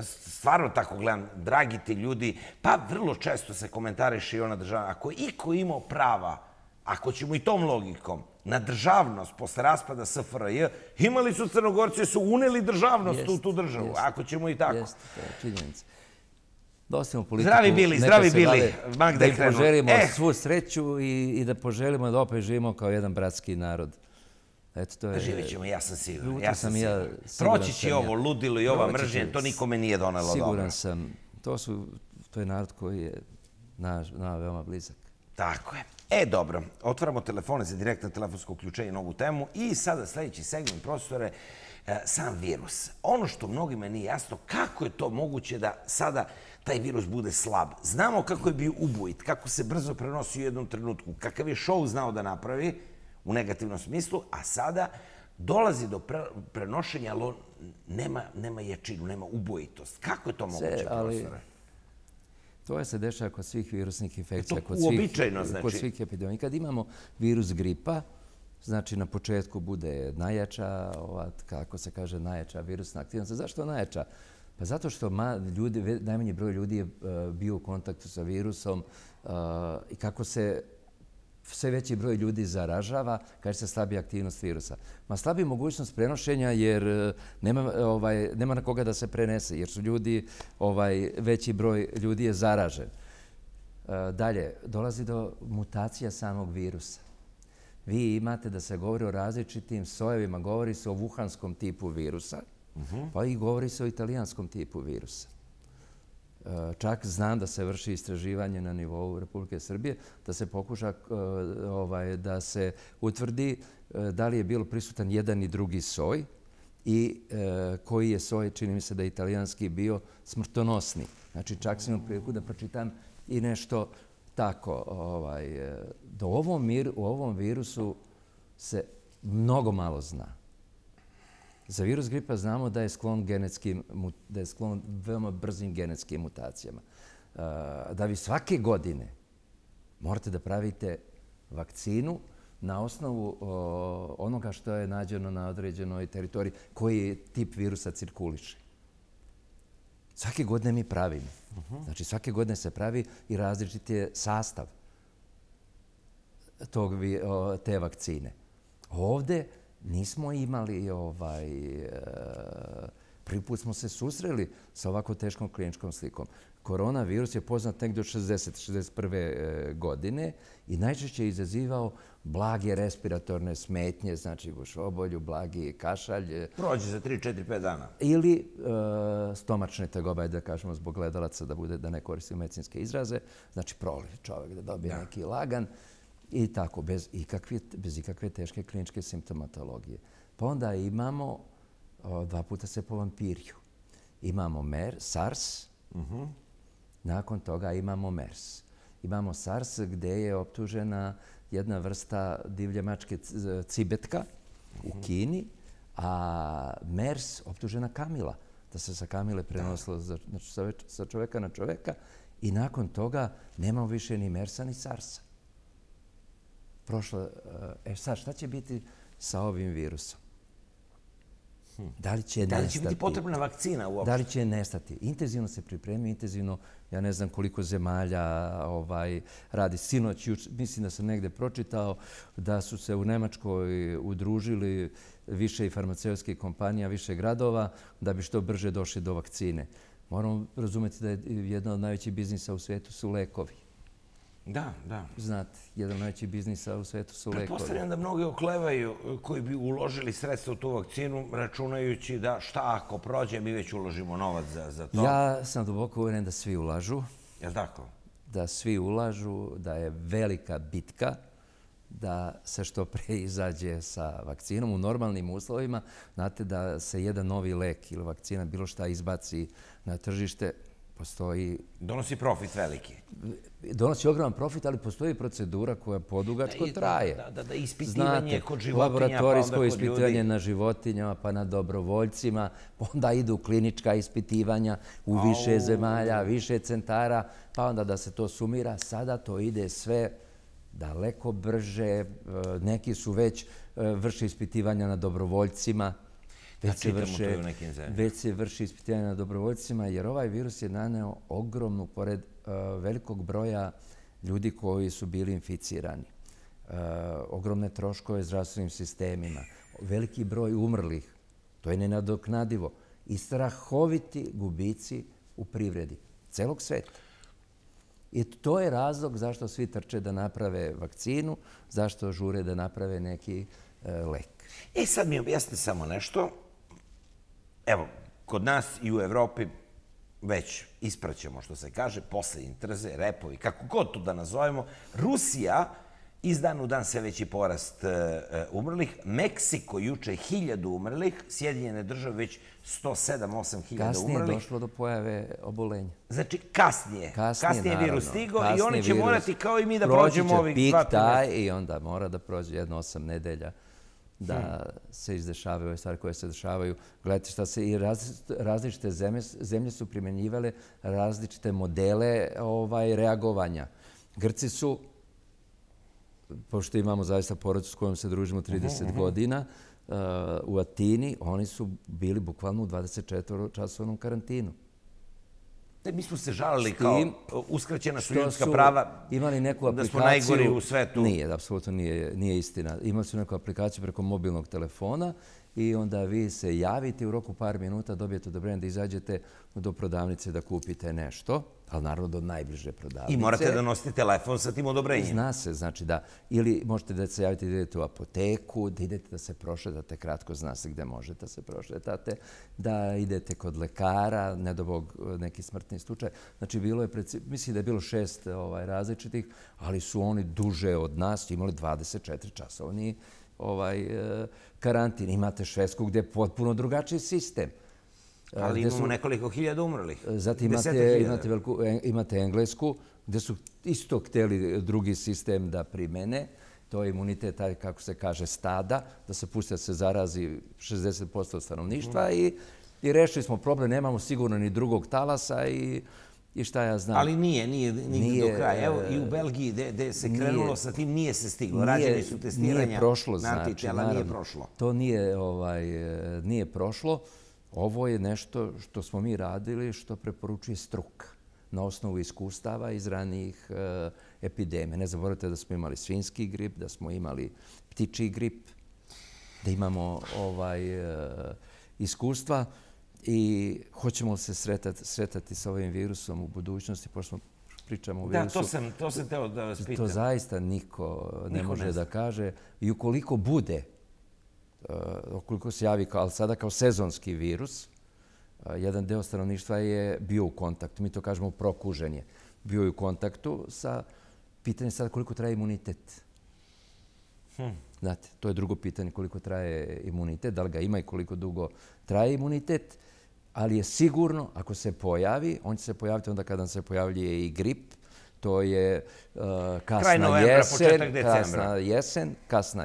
stvarno tako gledam, dragi ti ljudi, pa vrlo često se komentariše i ona država, ako je iko imao prava, ako ćemo i tom logikom, na državnost posle raspada SFRJ, imali su Crnogorci, su uneli državnost u tu državu, ako ćemo i tako. Jeste, to je činjenica. Da ostavimo politiku. Zdravi bili. Da im poželimo svu sreću i da poželimo da opet živimo kao jedan bratski narod. Živit ćemo, ja sam siguran. Proći će ovo ludilo i ova mržnja, to nikome nije donelo dobro. Siguran sam. To je narod koji je nama veoma blizak. Tako je. Dobro. Otvaramo telefone za direktno telefonsko uključenje na ovu temu i sada sljedeći segment, profesore, sam virus. Ono što mnogima nije jasno, kako je to moguće da sada taj virus bude slab. Znamo kako je bio ubojit, kako se brzo prenosi u jednom trenutku, kakav je show znao da napravi u negativnom smislu, a sada dolazi do prenošenja, ali nema jačinu, nema ubojitost. Kako je to moguće, profesore? To se dešava kod svih virusnih infekcija, kod svih epidemija. Kad imamo virus gripa, znači na početku bude najjača, kako se kaže, najjača virusna aktivnost. Zašto najjača? Pa zato što najmanji broj ljudi je bio u kontaktu sa virusom i kako se sve veći broj ljudi zaražava, kaže se slabija aktivnost virusa. Ma slabija mogućnost prenošenja jer nema na koga da se prenese, jer su ljudi, veći broj ljudi je zaražen. Dalje, dolazi do mutacija samog virusa. Vi imate da se govori o različitim sojevima, govori se o wuhanskom tipu virusa, pa i govori se o italijanskom tipu virusa. Čak znam da se vrši istraživanje na nivou Republike Srbije, da se pokuša da se utvrdi da li je bilo prisutan jedan i drugi soj i koji je soj, čini mi se da je italijanski bio smrtonosni. Znači, čak sam imao priliku da pročitam i nešto tako. U ovom virusu se mnogo malo zna. Za virus gripa znamo da je sklon veoma brzim genetskim mutacijama. Da vi svake godine morate da pravite vakcinu na osnovu onoga što je nađeno na određenoj teritoriji, koji tip virusa cirkuliše. Svake godine mi pravimo. Znači, svake godine se pravi i različit je sastav te vakcine. Ovde nismo imali, prvi put smo se susreli sa ovako teškom kliničkom slikom. Koronavirus je poznat negdje od 60-61. godine i najčešće je izazivao blage respiratorne smetnje, znači gušobolju, blagi kašalj. Prođe za 3, 4, 5 dana. Ili stomačne tegobe, da kažemo zbog gledalaca, da ne koristimo medicinske izraze. Znači proliv čovjek da dobije neki lagan i tako, bez ikakve teške kliničke simptomatologije. Pa onda imamo, 2 puta se povampiriju. Imamo SARS, nakon toga imamo MERS. Imamo SARS gdje je optužena jedna vrsta divlje mačke cibetka u Kini, a MERS optužena kamila, da se sa kamile prenosilo sa čoveka na čoveka i nakon toga nemamo više ni MERS-a ni SARS-a. Sad, šta će biti sa ovim virusom? Da li će biti potrebna vakcina uopšte? Da li će nestati? Intenzivno se pripremi, intenzivno, ja ne znam koliko zemalja radi. Sinoć, mislim da sam negde pročitao da su se u Nemačkoj udružili više i farmaceutskih kompanija, više gradova, da bi što brže došli do vakcine. Moramo razumeti da je jedna od najvećih biznisa u svijetu su lekovi. Da. Znate, jedan od najvećih biznisa u svijetu su lekovi. Pretpostavljam da mnogi oklevaju koji bi uložili sredstva u tu vakcinu, računajući da šta ako prođe, mi već uložimo novac za to. Ja sam duboko uvjeren da svi ulažu. Jel' tako? Da svi ulažu, da je velika bitka, da se što pre izađe sa vakcinom u normalnim uslovima. Znate da se jedan novi lek ili vakcina, bilo šta izbaci na tržište, postoji... Donosi profit veliki. Donosi ogroman profit, ali postoji procedura koja podugačko traje. Da ispitivanje kod životinja, pa onda kod ljudi. Laboratorijsko ispitivanje na životinjama, pa na dobrovoljcima, onda idu klinička ispitivanja u više zemalja, više centara, pa onda da se to sumira. Sada to ide sve daleko brže. Neki su već vrši ispitivanja na dobrovoljcima. Već se vrši ispitivanje na dobrovoljcima, jer ovaj virus je naneo ogromnu, pored velikog broja ljudi koji su bili inficirani, ogromne troškove zdravstvenim sistemima, veliki broj umrlih, to je nenadoknadivo, i strahoviti gubici u privredi celog sveta. I to je razlog zašto svi trče da naprave vakcinu, zašto žure da naprave neki lek. Sad mi objasnite samo nešto. Evo, kod nas i u Evropi već ispraćamo, što se kaže, posle intrze, repovi, kako god to da nazovemo. Rusija, iz dana u dan sve veći porast umrlih. Meksiko juče 1000 umrlih, Sjedinjene države već 107-8 hiljada umrlih. Kasnije je došlo do pojave obolenja. Znači, kasnije je virus stigao i oni će morati kao i mi da prođemo ovih 2-3 mjeseca. Proći će pik taj i onda mora da prođe jedno 8 nedelja da se izdešavaju ove stvari koje se dešavaju. Gledajte šta se i različite zemlje su primjenjivale različite modele reagovanja. Grci su, pošto imamo zaista porodicu s kojom se družimo 30 godina, u Atini, oni su bili bukvalno u 24-časovnom karantinu. Mi smo se žalili kao uskraćena su ljudska prava, imali neku da smo aplikaciju, najgori u svetu. Nije, apsolutno nije istina. Imali su neku aplikaciju preko mobilnog telefona i onda vi se javite u roku par minuta, dobijete odobrenje da izađete do prodavnice da kupite nešto, ali naravno do najbliže prodavnice. I morate da nosite telefon sa tim odobrenjem. Zna se, znači da, ili možete da se javite da idete u apoteku, da idete da se prošetate, kratko zna se gde možete da se prošetate, da idete kod lekara, ne do Bog neki smrtni slučaj. Znači, mislim da je bilo 6 različitih, ali su oni duže od nas imali 24 časovni karantin. Imate Švedsku gde je potpuno drugačiji sistem. Ali imamo nekoliko hiljada umrlih. Zatim imate Englesku, gde su isto htjeli drugi sistem da primene. To je imunitet, kako se kaže, stada, da se pusti da se zarazi 60% stanovništva i rešili smo problem. Nemamo sigurno ni drugog talasa i šta ja znam. Ali nije do kraja. Evo i u Belgiji gde se krenulo sa tim nije se stiglo. Rađeni su testiranja na antitela, nije prošlo. To nije prošlo. Ovo je nešto što smo mi radili, što preporučuje struka na osnovu iskustava iz ranijih epidemija. Ne zaboravite da smo imali svinjski grip, da smo imali ptičji grip, da imamo iskustva i hoćemo se sretati sa ovim virusom u budućnosti, pošto smo pričamo o virusu. Da, to sam teo da vas pitam. To zaista niko ne može da kaže. I ukoliko bude, ukoliko se javi, ali sada kao sezonski virus, jedan deo stanovništva je bio u kontaktu. Mi to kažemo prokuženje. Bio je u kontaktu sa pitanjem sada koliko traje imunitet. Znate, to je drugo pitanje koliko traje imunitet, da li ga ima i koliko dugo traje imunitet, ali je sigurno, ako se pojavi, on će se pojaviti onda kada se pojavljuje i grip, to je kasna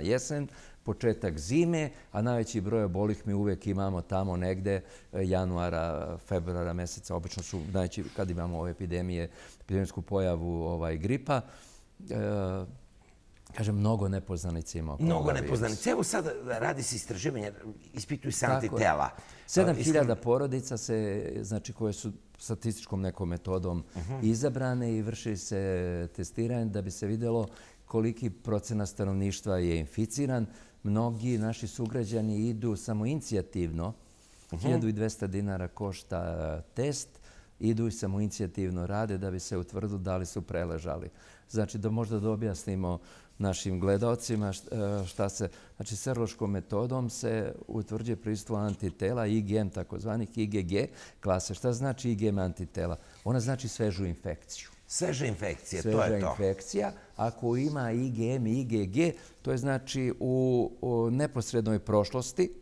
jesen, početak zime, a najveći broj obolih mi uvek imamo tamo negde januara, februara meseca. Obično su najveći kad imamo ove epidemijsku pojavu gripa. Kažem, mnogo nepoznanica ima oko ovoga virusa. Mnogo nepoznanica. Evo sad radi se istraživanje, ispituju se antitela. 7000 porodica znači koje su statističkom nekom metodom izabrane i vrši se testiranje da bi se vidjelo koliki procenat stanovništva je inficiran. Mnogi naši sugrađani idu samoinicijativno. 1200 dinara košta test. Idu i samoinicijativno rade da bi se utvrdilo da li su preležali. Znači da možda da objasnimo našim gledalcima šta se... Znači, serološkom metodom se utvrđuje prisustvo antitela, IgM, takozvanih IgG klase. Šta znači IgM antitela? Ona znači svežu infekciju. Sveža infekcija, to je to. Sveža infekcija. Ako ima IgM i IgG, to je znači u neposrednoj prošlosti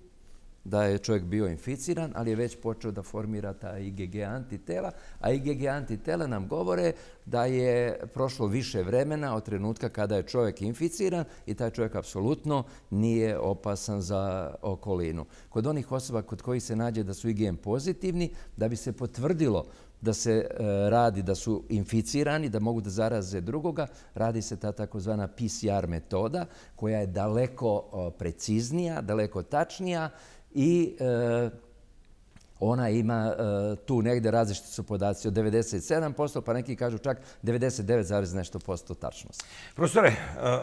da je čovjek bio inficiran, ali je već počeo da formira ta IgG antitela, a IgG antitela nam govore da je prošlo više vremena od trenutka kada je čovjek inficiran i taj čovjek apsolutno nije opasan za okolinu. Kod onih osoba kod kojih se nađe da su IgM pozitivni, da bi se potvrdilo da se radi da su inficirani, da mogu da zaraze drugoga, radi se ta takozvana PCR metoda koja je daleko preciznija, daleko tačnija i ona ima tu negde različiti su podaci od 97%, pa neki kažu čak 99,nešto% tačnosti. Profesore,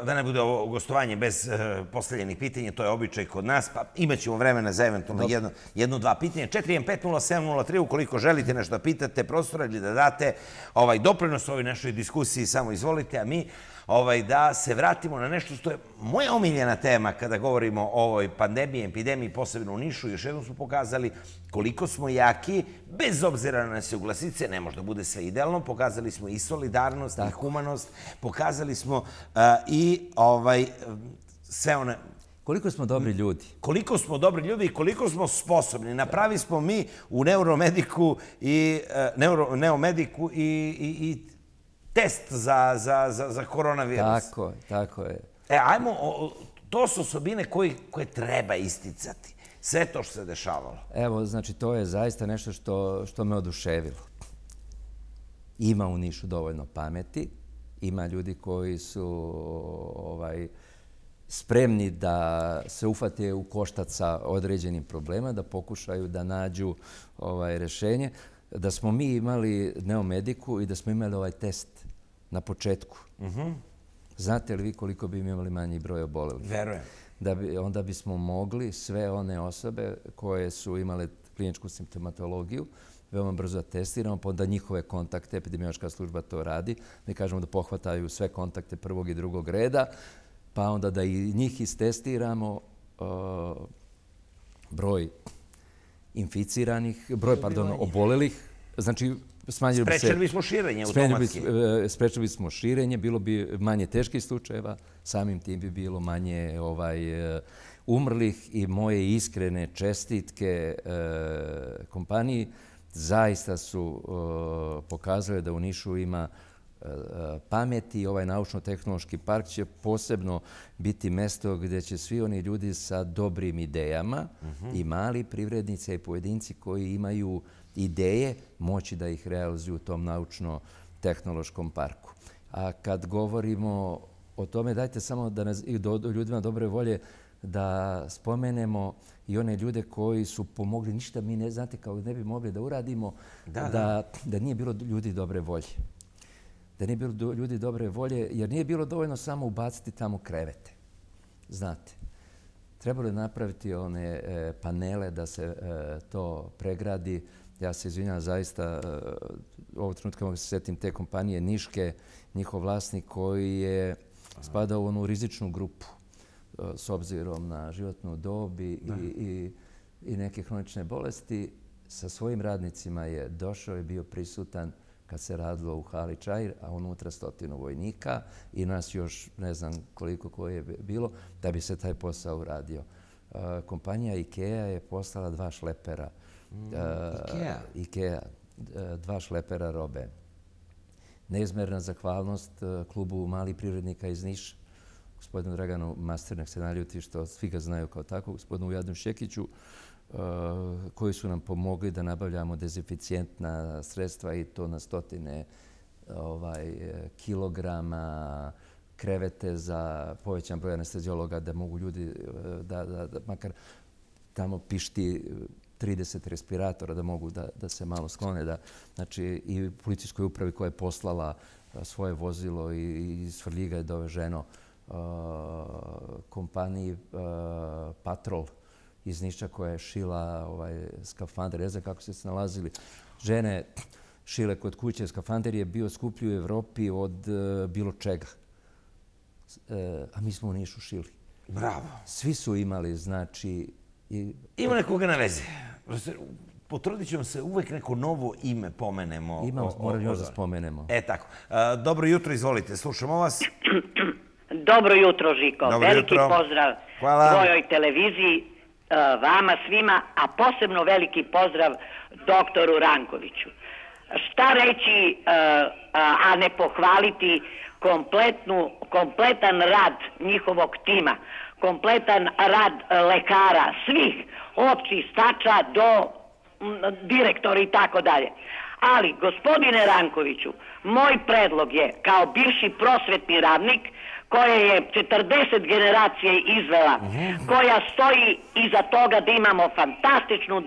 da ne bude ovo gostovanje bez postavljenih pitanja, to je običaj kod nas, pa imat ćemo vremena za eventualno jedno, dva pitanja. 4150703, ukoliko želite nešto da pitate profesora ili da date doprinos ovoj našoj diskusiji, samo izvolite, a mi da se vratimo na nešto što je moja omiljena tema kada govorimo o ovoj pandemiji, epidemiji, posebno u Nišu. Još jednom smo pokazali koliko smo jaki, bez obzira na nesuglasice, ne može da bude sve idealno, pokazali smo i solidarnost, i humanost, pokazali smo i sve one... Koliko smo dobri ljudi. Koliko smo dobri ljudi i koliko smo sposobni. Napravi smo mi u Neomediku i test za koronavirus. Tako je. Ajmo, to su osobine koje treba isticati. Sve to što se dešavalo. Evo, znači, to je zaista nešto što me oduševilo. Ima u Nišu dovoljno pameti. Ima ljudi koji su spremni da se ufate u koštac sa određenim problema, da pokušaju da nađu rešenje. da smo mi imali Neomediku i da smo imali ovaj test na početku. Znate li vi koliko bi imali manji broj obolelih? Verujem. Onda bismo mogli sve one osobe koje su imale kliničku simptomatologiju veoma brzo da testiramo, pa onda njihove kontakte, epidemiološka služba to radi. Mi kažemo da pohvataju sve kontakte prvog i drugog reda, pa onda da i njih istestiramo, broj inficiranih, obolelih. Znači, sprečili bismo širenje automatski. Sprečili bismo širenje, bilo bi manje teških slučajeva, samim tim bi bilo manje umrlih i moje iskrene čestitke kompaniji. Zaista su pokazali da u Nišu ima pameti i ovaj naučno-tehnološki park će posebno biti mesto gdje će svi oni ljudi sa dobrim idejama i mali privrednici i pojedinci koji imaju ideje moći da ih realizuju u tom naučno-tehnološkom parku. A kad govorimo o tome, dajte samo da ljudima dobre volje da spomenemo i one ljude koji su pomogli. Ništa mi ne znate kao ne bi mogli da uradimo da nije bilo ljudi dobre volje. Da nije bilo ljudi dobre volje, jer nije bilo dovoljno samo ubaciti tamo krevete. Znate, trebalo je napraviti one panele da se to pregradi. Ja se izvinjam zaista, ovog trenutka mogu se sjetim te kompanije Niške, njihov vlasnik koji je spadao u onu rizičnu grupu s obzirom na životnu dob i neke hronične bolesti. Sa svojim radnicima je došao i bio prisutan kad se radilo u hali Čair, a unutra 100 vojnika i nas još ne znam koliko koje je bilo, da bi se taj posao uradio. Kompanija IKEA je poslala 2 šlepera. IKEA, 2 šlepera robe. Neizmerna zahvalnost klubu malih privrednika iz Niša, gospodinu Draganu Masternak se naljuti što svi ga znaju kao tako, gospodinu Ujadu Šekiću, koji su nam pomogli da nabavljamo dezinficijentna sredstva i to na 100 kilograma, krevete za povećan broj anesteziologa da mogu ljudi da makar tamo pišti 30 respiratora da mogu da se malo sklone. Znači i policijskoj upravi koja je poslala svoje vozilo i iz Svrljiga je doveženo kompaniji Patrol iz Niša koja je šila skafander. Ne znam kako ste se nalazili. Žene šile kod kuće. Skafander je bio skuplji u Evropi od bilo čega. A mi smo u Nišu šili. Bravo. Svi su imali, znači... Ima nekoga na veze. Potrudit ćemo se uvek neko novo ime pomenemo. Moram još da spomenemo. Tako. Dobro jutro, izvolite. Slušamo vas. Dobro jutro, Žiko. Veliki pozdrav tvojoj televiziji, vama svima, a posebno veliki pozdrav doktoru Rankoviću. Šta reći, a ne pohvaliti kompletan rad njihovog tima, kompletan rad lekara, svih, od čistača do direktora i tako dalje. Ali, gospodine Rankoviću, moj predlog je, kao bivši prosvetni radnik, koja je 40 generacije izvela, koja stoji iza toga da imamo fantastičnu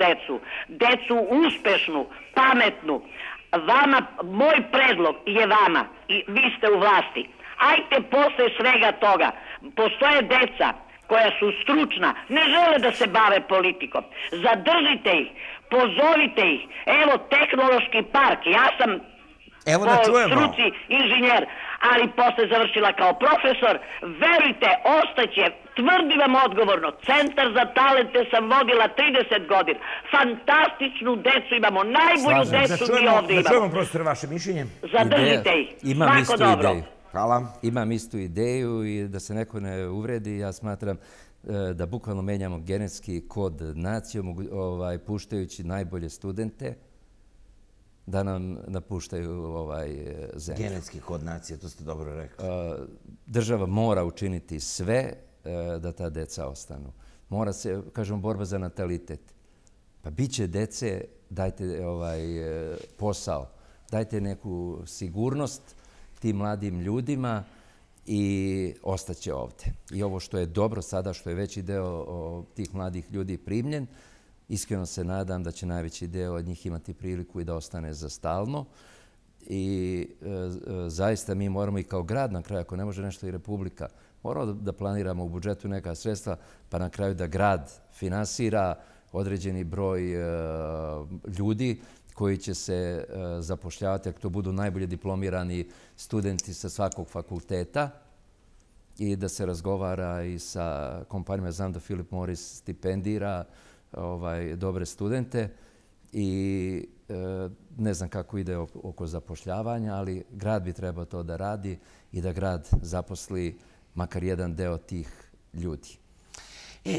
decu uspešnu, pametnu. Moj predlog je vama, i vi ste u vlasti, ajte posle svega toga, postoje deca koja su stručna, ne žele da se bave politikom, zadržite ih, pozovite ih, evo tehnološki park, ja sam po struci inženjer, ali posle završila kao profesor, verujte, ostaće, tvrdim vam odgovorno, Centar za talente sam vodila 30 godina, fantastičnu decu imamo, najbolju decu mi ovdje imamo. Da čujemo, profesore, vaše mišljenje. Zadržite ih, svako dobro. Hvala. Imam istu ideju i da se neko ne uvredi, ja smatram da bukvalno menjamo genetski kod nacije, puštajući najbolje studente da nam napuštaju zemlju. Genetski kod nacije, to ste dobro rekli. Država mora učiniti sve da ta deca ostanu. Mora se, kažemo, borba za natalitet. Pa bit će dece, dajte posao, dajte neku sigurnost tim mladim ljudima i ostaće ovdje. I ovo što je dobro sada, što je veći deo tih mladih ljudi primljen, Iskreno se nadam da će najveći deo od njih imati priliku i da ostane za stalno. I zaista mi moramo i kao grad na kraju, ako ne može nešto i Republika, moramo da planiramo u budžetu neka sredstva, pa na kraju da grad finansira određeni broj ljudi koji će se zapošljavati, ako to budu najbolje diplomirani studenti sa svakog fakulteta, i da se razgovara i sa kompanijama. Znam da Philip Morris stipendira dobre studente i ne znam kako ide oko zapošljavanja, ali grad bi trebao to da radi i da grad zaposli makar jedan deo tih ljudi.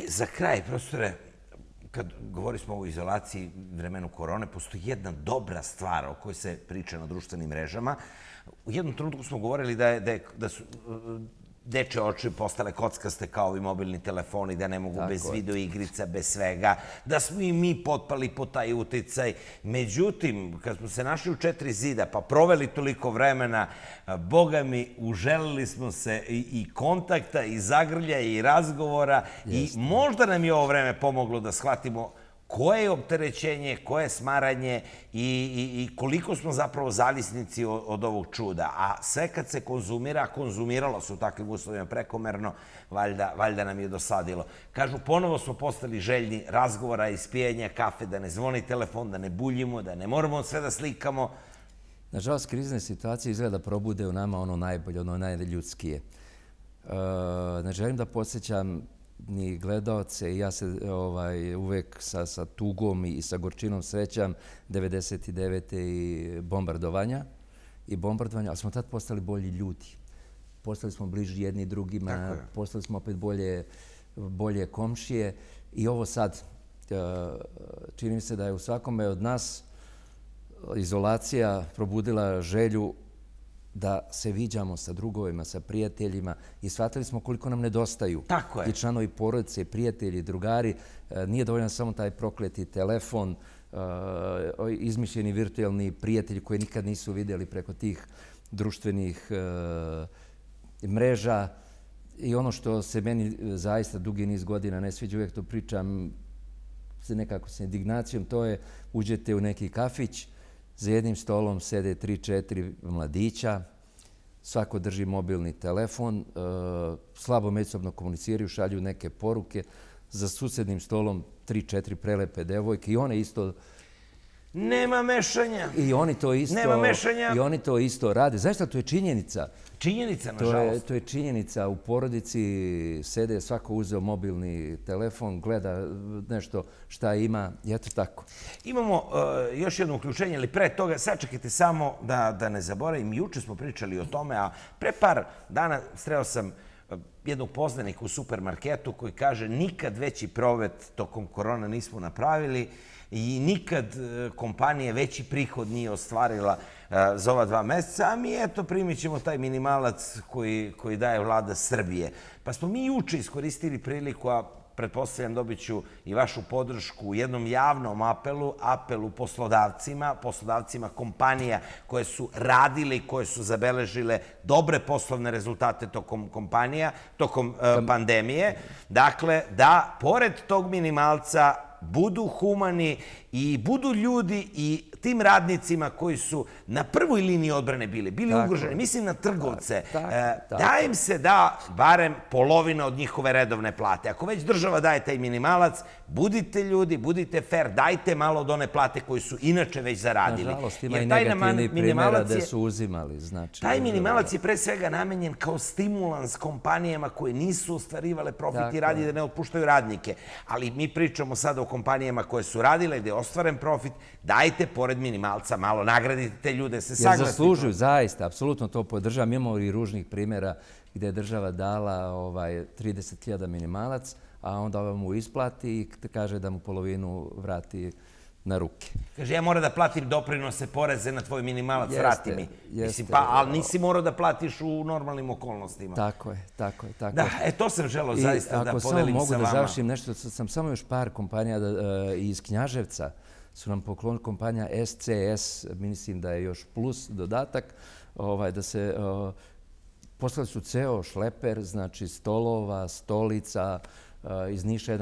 Za kraj, profesore, kad govorili smo o izolaciji vremenu korone, postoji jedna dobra stvar o kojoj se priča na društvenim mrežama. U jednom trenutku smo govorili da su dečje oči postale kockaste kao i mobilni telefoni, da ne mogu bez videoigrica, bez svega, da smo i mi potpali po taj uticaj. Međutim, kad smo se našli u 4 zida, pa proveli toliko vremena, Boga mi, uželili smo se i kontakta, i zagrlja, i razgovora, i možda nam je ovo vreme pomoglo da shvatimo koje je opterećenje, koje je smaranje i koliko smo zapravo zavisnici od ovog čuda. A sve kad se konzumira, konzumiralo se u takvim uslovima prekomerno, valjda nam je dosadilo. Kažu, ponovo smo postali željni razgovora, ispijenja kafe, da ne zvoni telefon, da ne buljimo, da ne moramo sve da slikamo. Nažalost, krizne situacije izgleda probude u nama ono najbolje, ono najljudskije. Ne želim da podsjećam ni gledaoce, i ja se uvek sa tugom i sa gorčinom srećam 99. i bombardovanja, ali smo tad postali bolji ljudi. Postali smo bliži jedni drugima, postali smo opet bolje komšije i ovo sad, čini mi se da je u svakome od nas izolacija probudila želju da se viđamo sa drugovima, sa prijateljima i shvatili smo koliko nam nedostaju. Tako je. I članovi porodice, prijatelji, drugari. Nije dovoljan samo taj prokleti telefon, izmišljeni virtualni prijatelji koji nikad nisu vidjeli preko tih društvenih mreža. I ono što se meni zaista dugi niz godina ne sviđa, uvijek to pričam nekako sa indignacijom, to je uđete u neki kafić, za jednim stolom sede 3-4 mladića, svako drži mobilni telefon, slabo međusobno komuniciraju, šalju neke poruke. Za susednim stolom 3-4 prelepe devojke i one isto... Nema mešanja. I oni to isto... Nema mešanja. I oni to isto rade. Znaš šta, to je činjenica. Činjenica, nažalost. To je činjenica. U porodici sede, svako uzeo mobilni telefon, gleda nešto šta ima i eto tako. Imamo još jedno uključenje, ali pre toga, sačekajte samo da ne zaboravim. Juče smo pričali o tome, a pre par dana sreo sam jednog poznanika u supermarketu koji kaže nikad veći provet tokom korona nismo napravili i nikad kompanija veći prihod nije ostvarila za ova 2 meseca, a mi eto primit ćemo taj minimalac koji daje vlada Srbije. Pa smo mi juče iskoristili priliku, a pretpostavljam dobit ću i vašu podršku u jednom javnom apelu poslodavcima kompanija koje su radile i koje su zabeležile dobre poslovne rezultate tokom pandemije. Dakle, da pored tog minimalca budu humani i budu ljudi i tim radnicima koji su na prvoj liniji odbrane bili ugroženi, mislim na trgovce, da im se da barem polovina od njihove redovne plate. Ako već država daje taj minimalac, budite ljudi, budite fair, dajte malo od one plate koju su inače već zaradili. Nažalost, ima i negativnih primjera da su uzimali. Taj minimalac je pre svega namenjen kao stimulans kompanijama koje nisu ostvarivale profit i radi da ne otpuštaju radnike. Ali mi pričamo sada o kompanijama koje su radile, gde je ostvaren profit, dajte pored minimalca malo, nagradite te ljude, se saglasite. Jer zaslužuju, zaista, apsolutno to podržavam. Imamo i ružnih primjera gde je država dala 30.000 minimalac, a onda mu isplati i kaže da mu polovinu vrati na ruke. Kaže, ja moram da platim doprinose, poreze na tvoj minimalac, vrati mi. Ali nisi morao da platiš u normalnim okolnostima. Tako je. Da, to sam želeo zaista da podelim sa vama. Ako samo mogu da završim nešto, sam samo još par kompanija iz Knjaževca su nam poklonili, kompanija SCS, mislim da je još plus dodatak, da se poslali su ceo šleper, znači stolova, stolica, iz Niša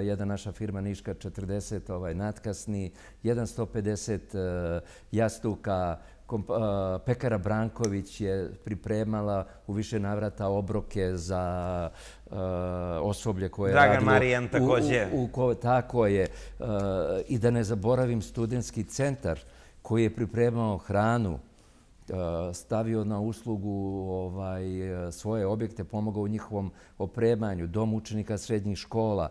jedna naša firma Niška 40 natkasni, 150 jastuka, pekara Branković je pripremala u više navrata obroke za osoblje koje je radilo. Dragan Marijan također. Tako je. I da ne zaboravim studentski centar koji je pripremao hranu, stavio na uslugu svoje objekte, pomogao u njihovom opremanju, dom učenika srednjih škola.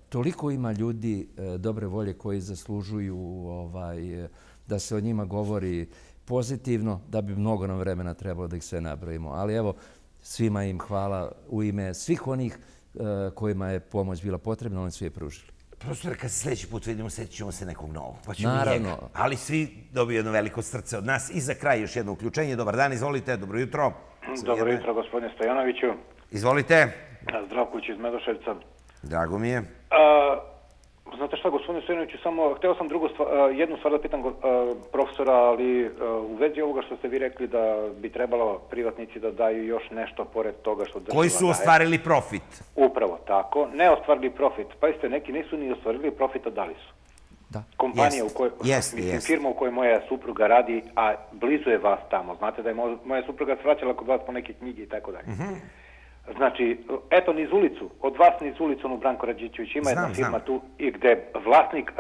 Toliko ima ljudi dobre volje koji zaslužuju da se o njima govori pozitivno, da bi mnogo nam vremena trebalo da ih sve nabrojimo. Ali evo, svima im hvala u ime svih onih kojima je pomoć bila potrebna, oni svi je pružili. Profesor, kad se sljedeći put vidimo, sjetit ćemo se nekog novog. Naravno. Ali svi dobiju jedno veliko srce od nas. I za kraj još jedno uključenje. Dobar dan, izvolite. Dobro jutro. Dobro jutro, gospodine Stojanoviću. Izvolite. Zdravković iz Medoševca. Drago mi je. Znate šta, gospodine Stojanoviću, samo hteo sam jednu stvar da pitam profesora, ali u vezi ovoga što ste vi rekli da bi trebalo privatnici da daju još nešto pored toga što država daje. Koji su ostvarili profit. Upravo tako. Ne ostvarili profit. Pazite, neki nisu ni ostvarili profit, a dali su. Kompanija u kojoj, mislim, firma u kojoj moja supruga radi, a blizu je vas tamo. Znate da je moja supruga svraćala kod vas po neke knjige i tako dalje. Znači, eto niz ulicu, od vas niz ulicu, ono Branko Rađićević, ima jedna firma tu gde vlasnik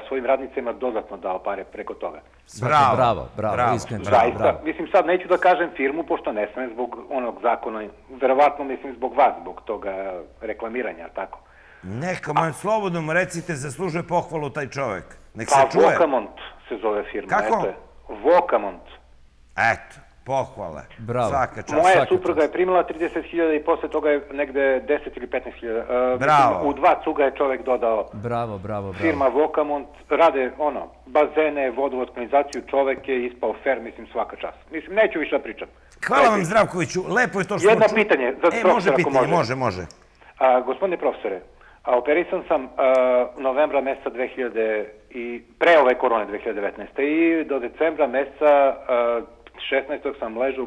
svojim radnicima dodatno dao pare preko toga. Bravo, iskreno. Zaista, mislim, sad neću da kažem firmu, pošto ne smem zbog onog zakona, verovatno mislim zbog vas, zbog toga reklamiranja, tako. Neka man, slobodno mu recite, zaslužuje pohvalu taj čovjek. Nek se čuje. Pa Vokamont se zove firma. Kako? Vokamont. Eto. Pohvale. Bravo. Moja supruga je primila 30.000 i posle toga je negde 10 ili 15.000. Bravo. U 2 cuga je čovjek dodao. Bravo. Firma Vokamont rade bazene, vodovodnu kanalizaciju, čovjek je ispao fair, mislim, svaka čast. Mislim, neću više da pričam. Hvala vam, Zdravkoviću, lepo je to što jedno pitanje za profesora, ako može. Može. Gospodine profesore, operisan sam novembra meseca 2000 i pre ove korone 2019. I do decembra meseca 16. sam ležao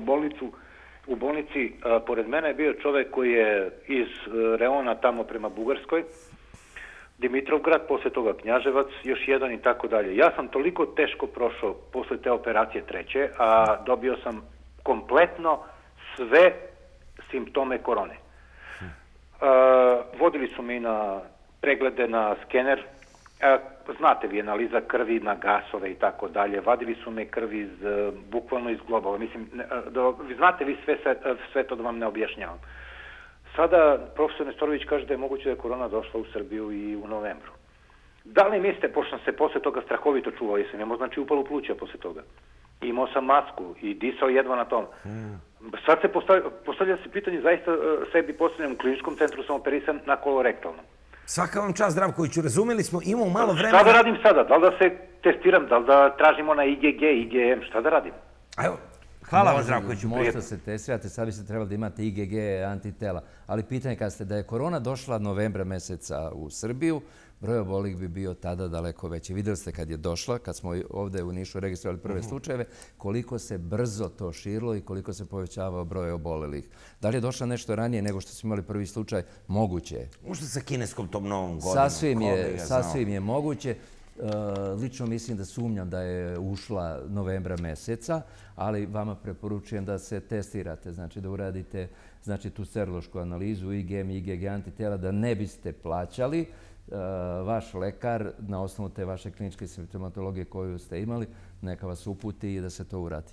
u bolnici, pored mene je bio čovjek koji je iz reona tamo prema Bugarskoj, Dimitrovgrad, posle toga Knjaževac, još jedan i tako dalje. Ja sam toliko teško prošao posle te operacije treće, a dobio sam kompletno sve simptome korone. Vodili su mi na preglede na skener, znate vi, analiza krvi na gasove i tako dalje. Vadili su me krvi bukvalno iz globova. Mislim, znate vi sve to da vam ne objašnjavam. Sada profesor Nestorović kaže da je moguće da je korona došla u Srbiju i u novembru. Da li mislite, pošto sam se posle toga strahovito čuvao, jesam imao znači upalu pluća posle toga. Imao sam masku i disao jedva na tom. Sad se postavlja se pitanje, zaista sebi postavljam u kliničkom centru, sam operisan na kolorektalnom. Svaka vam čast, Zdravkoviću, razumeli smo, imamo malo vremena. Šta da radim sada? Da li da se testiram? Da li da tražimo na IgG, IgM? Šta da radim? Evo, hvala vam, Zdravkoviću. Možda se testirate, sad biste trebali da imate IgG antitela. Ali pitanje kad ste da je korona došla novembra meseca u Srbiju, broj obolih bi bio tada daleko veći. Vidjeli ste kad je došla, kad smo ovdje u Nišu registrovali prve slučajeve, koliko se brzo to širilo i koliko se povećavao broj obolelih. Da li je došla nešto ranije nego što smo imali prvi slučaj? Moguće je. Možda sa kineskom tom novom godinom. Sasvim je moguće. Lično mislim da sumnjam da je ušla novembra meseca, ali vama preporučujem da se testirate, znači da uradite tu serološku analizu IgM i IgG antitela, da ne biste plaćali. Vaš lekar, na osnovu te vaše kliničke simptomatologije koju ste imali, neka vas uputi i da se to uradi.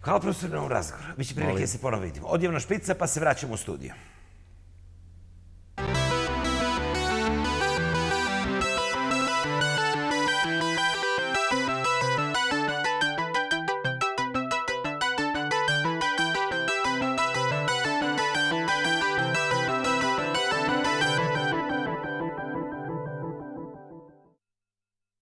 Hvala profesor na ovom razgovoru. Biće prilike da se ponovo vidimo. Odjevna špica pa se vraćamo u studiju.